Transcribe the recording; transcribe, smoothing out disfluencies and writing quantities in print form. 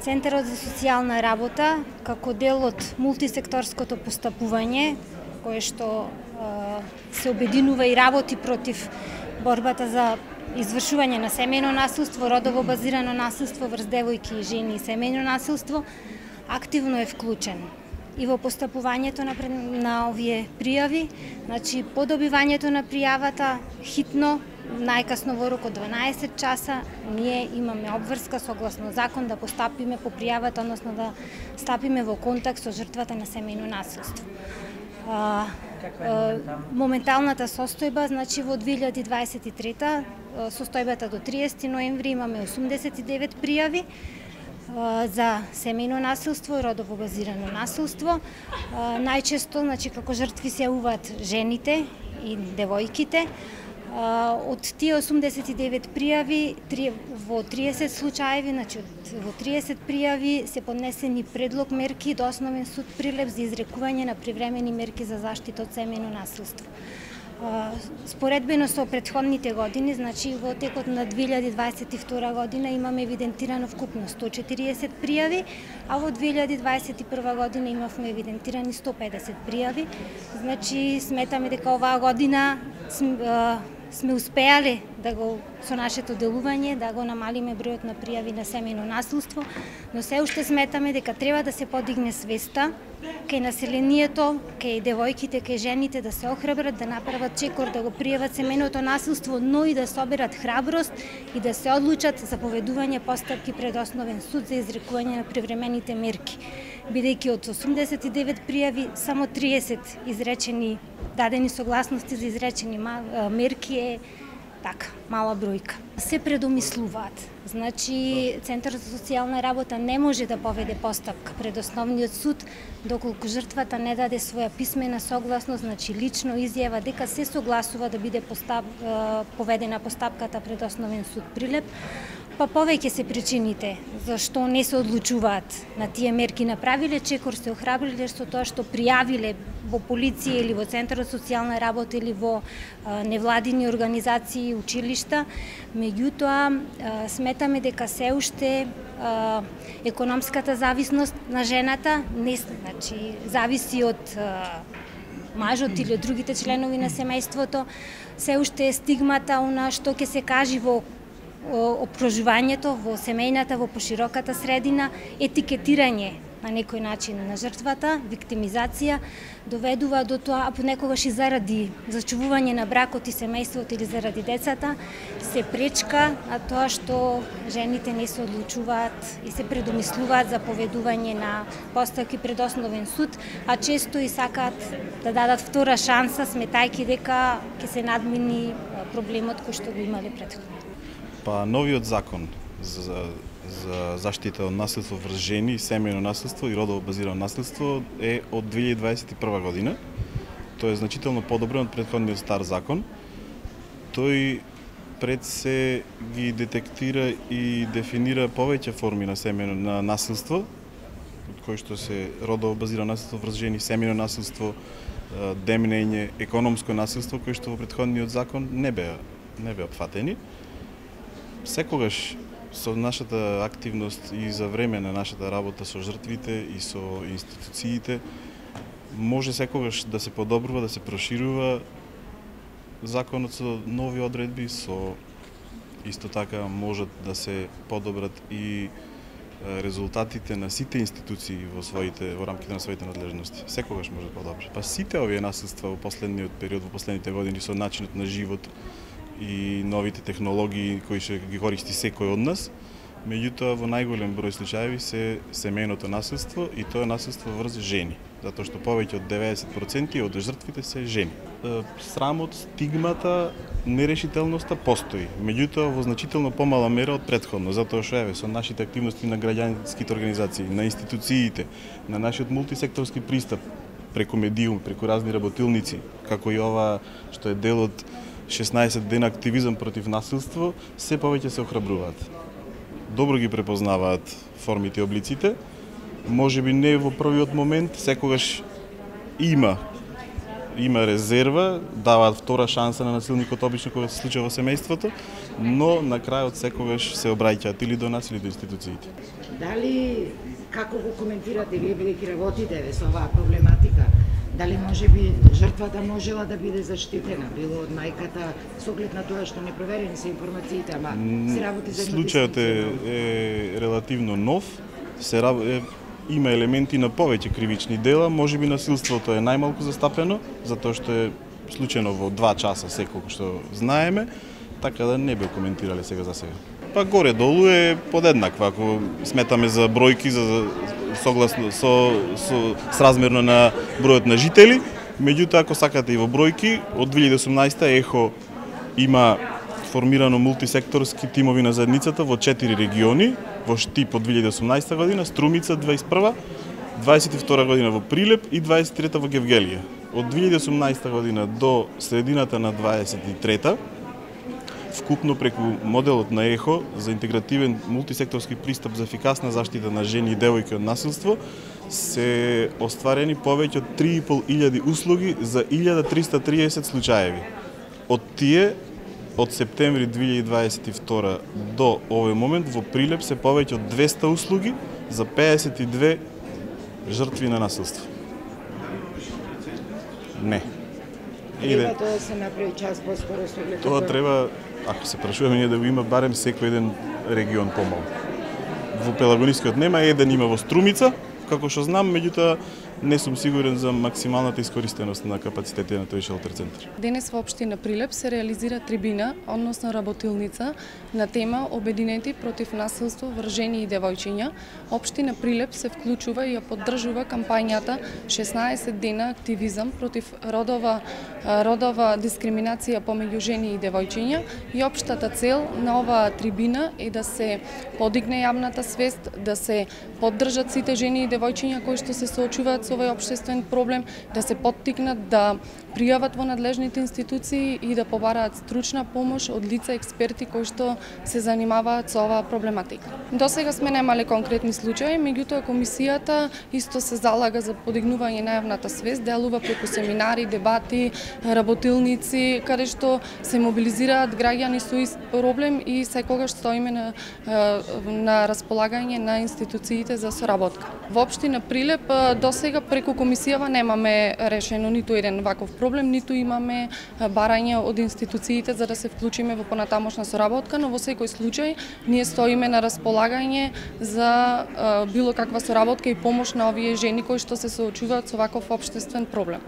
Центарот за социјална работа, како дел од мултисекторското постапување, кое што се обединува и работи против борбата за извршување на семејно насилство, родово базирано насилство врз девојки и жени и семејно насилство, активно е вклучен и во постапувањето на овие пријави, значи по добивањето на пријавата хитно, најкасно во рок од 12 часа, ние имаме обврска согласно закон да постапиме по пријавата, односно да стапиме во контакт со жртвата на семејно насилство. Моменталната состојба, значи во 2023 состојбата до 30 ноември имаме 89 пријави за семејно насилство и родово базирано насилство. Најчесто, значи како жртви се јавуваат жените и девојките. Од тие 89 пријави, во 30 случаеви, значи во 30 пријави се поднесени предлог мерки до Основен суд Прилеп за изрекување на привремени мерки за заштита од семејно насилство. Споредбено со претходните години, значи во текот на 2022 година имаме евидентирано вкупно 140 пријави, а во 2021 година имавме евидентирани 150 пријави. Значи сметаме дека оваа година сме успеале да го со нашето делување да го намалиме бројот на пријави на семејно насилство, но се уште сметаме дека треба да се подигне свеста кај населението, кај девојките, кај жените да се охрабрат, да направат чекор, да го пријават семејното насилство, но и да соберат храброст и да се одлучат за поведување постапки пред Основен суд за изрекување на привремените мерки. Бидејќи од 89 пријави само 30 изречени дадени согласности за изречени мерки е така, мала бројка. Се предомислуваат. Значи, Центар за социјална работа не може да поведе постапка пред Основниот суд доколку жртвата не даде своја писмена согласност, значи лично изјава дека се согласува да биде поведена постапката пред Основен суд Прилеп. Па повеќе се причините зашто не се одлучуваат на тие мерки, направиле чекор, се охрабриле со тоа што пријавиле во полиција или во Центарот за социјална работа или во невладини организации и училишта. Меѓутоа, сметаме дека се уште економската зависност на жената не, значи, зависи од мажот или од другите членови на семејството, се уште е стигмата она што ќе се кажи во опружувањето, во семејната, во пошироката средина, етикетирање на некој начин на жртвата, виктимизација, доведува до тоа, а понекогаш и заради зачувување на бракот и семејството или заради децата, се пречка на тоа што жените не се одлучуваат и се предомислуваат за поведување на постапки пред Основен суд, а често и сакаат да дадат втора шанса, сметајќи дека ќе се надмини проблемот кој што го имале претходно. Па новиот закон за заштита од насилство врз жени, семејно насилство и родово базирано насилство е од 2021 година. Тој е значително подобрен од претходниот стар закон. Тој пред се ги детектира и дефинира повеќе форми на семејно насилство, од кои што се родово базирано насилство врз жени, семејно насилство, демнење, економско насилство, кои што во претходниот закон не беа опфатени. Секогаш со нашата активност и за време на нашата работа со жртвите и со институциите може секогаш да се подобрува, да се проширува законот со нови одредби, со исто така можат да се подобрат и резултатите на сите институции во рамките на своите надлежности. Секогаш може да подобри. Па сите овие насилства во последниот период, во последните години со начинот на живот и новите технологии кои ќе ги користи секој од нас, меѓутоа во најголем број случаеви се семејното насилство и тоа е насилство врз жени, затоа што повеќе од 90% од жртвите се жени. Срамот, стигмата, нерешителноста постои, меѓутоа во значително помала мера од претходно, затоа што со нашите активности на граѓанските организации, на институциите, на нашиот мултисекторски пристап преку медиум, преку разни работилници, како и ова што е дел од 16 дена активизам против насилство, се повеќе се охрабруваат. Добро ги препознаваат формите и облиците, можеби не во првиот момент, секогаш има има резерва, даваат втора шанса на насилникот обично кога се случува во семејството, но на крајот секогаш се обраќаат или до нас или до институциите. Дали, како го коментирате вие бидејќи работите со оваа проблематика? Дали можеби жртвата можела да биде заштитена, било од мајката, со оглед на тоа што непроверени се информациите, ама се работи за случајот е релативно нов, има елементи на повеќе кривични дела, можеби насилството е најмалку застапено, затоа што е случајно во 2 часа секолку што знаеме, така да не би коментирале сега за сега. Па горе-долу е подеднаква, ако сметаме за бројки, согласно сразмерно на бројот на жители, меѓутоа ако сакате и во бројки, од 2018 ЕХО има формирано мултисекторски тимови на заедницата во 4 региони, во Штип од 2018 година, Струмица 21, 22 година во Прилеп и 23 во Гевгелија. Од 2018 година до средината на 23 вкупно преку моделот на ЕХО за интегративен мултисекторски пристап за ефикасна заштита на жени и девојки од насилство се остварени повеќе од 3.500 услуги за 1330 случаеви. Од тие, од септември 2022 до овој момент во Прилеп се повеќе од 200 услуги за 52 жртви на насилство. Не. Треба тоа да се направи час поскоро со оглед. Тоа треба, ако се прашуваме ние да го има барем секој еден регион помал. Во Пелагонискиот нема, еден има во Струмица, како што знам, меѓутоа не сум сигурен за максималната искористеност на капацитетите на тој шелтер центар. Денес во општина Прилеп се реализира трибина, односно работилница на тема Обединети против насилство врз жени и девојчиња. Општина Прилеп се вклучува и ја поддржува кампањата 16 дена активизам против родова дискриминација помеѓу жени и девојчиња и општата цел на оваа трибина е да се подигне јавната свест, да се поддржат сите жени и девојчиња кои што се соочуваат со овој општествен проблем, да се поттикнат да пријават во надлежните институции и да побараат стручна помош од лица експерти кои што се занимаваат со оваа проблематика. До сега сме немале конкретни случаи, меѓутоа комисијата исто се залага за подигнување на јавната свест, делува преку семинари, дебати, работилници, каде што се мобилизираат граѓани со ист проблем и секогаш стоиме на располагање на институциите за соработка. Во општина Прилеп до сега преку комисијава немаме решено ниту еден ваков проблем, ниту имаме барање од институциите за да се вклучиме во понатамошна соработка, но во секој случај ние стоиме на располагање за било каква соработка и помош на овие жени кои што се соочуваат со ваков општествен проблем.